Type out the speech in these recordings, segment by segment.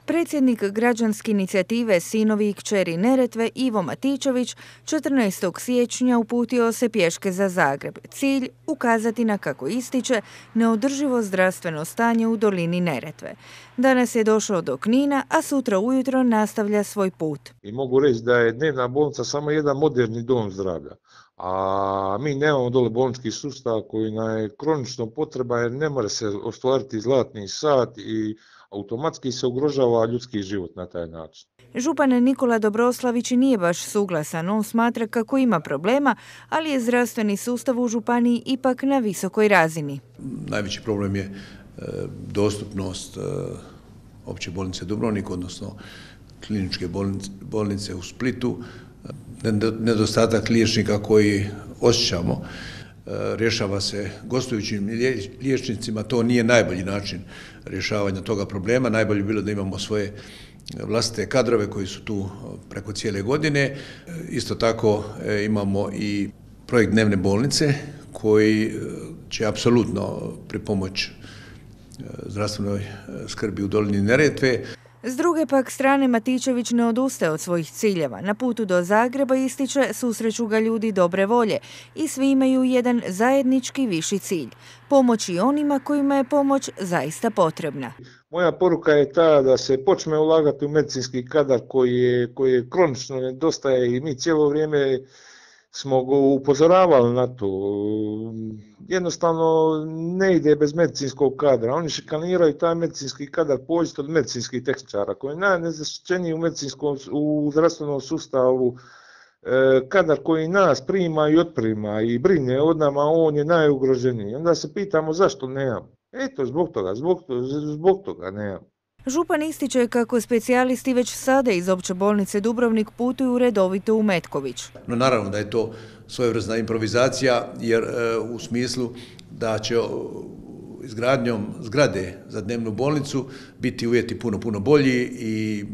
Predsjednik građanske inicijative Sinovi i kćeri Neretve Ivo Matičević 14. siječnja uputio se pješke za Zagreb. Cilj ukazati na, kako ističe, neodrživo zdravstveno stanje u dolini Neretve. Danas je došao do Knina, a sutra ujutro nastavlja svoj put. I mogu reći da je dnevna bolnica samo jedan moderni dom zdravlja. A mi nemamo dole bolnički sustav koji nam je kronično potreba jer ne može se ostvariti zlatni sat i automatski se ugrožava ljudski život na taj način. Župan Nikola Dobroslavić nije baš suglasan. On smatra kako ima problema, ali je zdravstveni sustav u županiji ipak na visokoj razini. Najveći problem je dostupnost opće bolnice Dubrovnik, odnosno kliničke bolnice u Splitu, nedostatak liječnika koji osjećamo. Rješava se gostujućim liječnicima, to nije najbolji način rješavanja toga problema. Najbolje bi bilo da imamo svoje vlastite kadrove koji su tu preko cijele godine. Isto tako imamo i projekt dnevne bolnice koji će apsolutno pripomoći zdravstvenoj skrbi u dolini Neretve. S druge pak strane, Matičević ne odustaje od svojih ciljeva. Na putu do Zagreba, ističe, susreću ga ljudi dobre volje i svi imaju jedan zajednički viši cilj – pomoći onima kojima je pomoć zaista potrebna. Moja poruka je ta da se počne ulagati u medicinski kadar koji je kronično nedostaje i mi cijelo vrijeme smo ga upozoravali na to. Jednostavno ne ide bez medicinskog kadra. Oni šikaniraju taj medicinski kadar, pođite od medicinskih tehničara koji je najnezaštićeniji u zdravstvenom sustavu. Kadar koji nas prima i otprima i brine od nama, on je najugroženiji. Onda se pitamo zašto nemamo. Eto, zbog toga nemamo. Župan ističe kako specijalisti već sada iz opće bolnice Dubrovnik putuju redovito u Metković. No naravno da je to svojevrsna improvizacija jer u smislu da će izgradnjom zgrade za dnevnu bolnicu biti uvjeti puno bolji i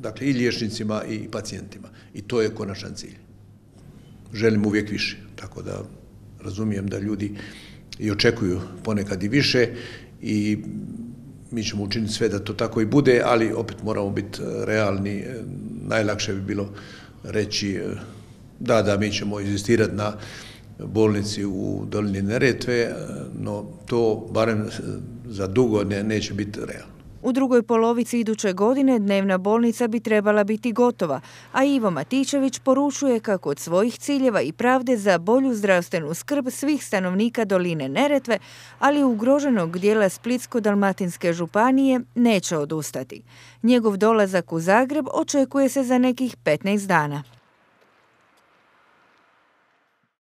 dakle i liječnicima i pacijentima. I to je konačan cilj. Želim uvijek više, tako da razumijem da ljudi i očekuju ponekad i više i mi ćemo učiniti sve da to tako i bude, ali opet moramo biti realni. Najlakše bi bilo reći da mi ćemo inzistirati na bolnici u dolini Neretve, no to barem za dugo neće biti realno. U drugoj polovici iduće godine dnevna bolnica bi trebala biti gotova, a Ivo Matičević poručuje kako od svojih ciljeva i pravde za bolju zdravstvenu skrb svih stanovnika doline Neretve, ali ugroženog dijela Splitsko-dalmatinske županije, neće odustati. Njegov dolazak u Zagreb očekuje se za nekih 15 dana.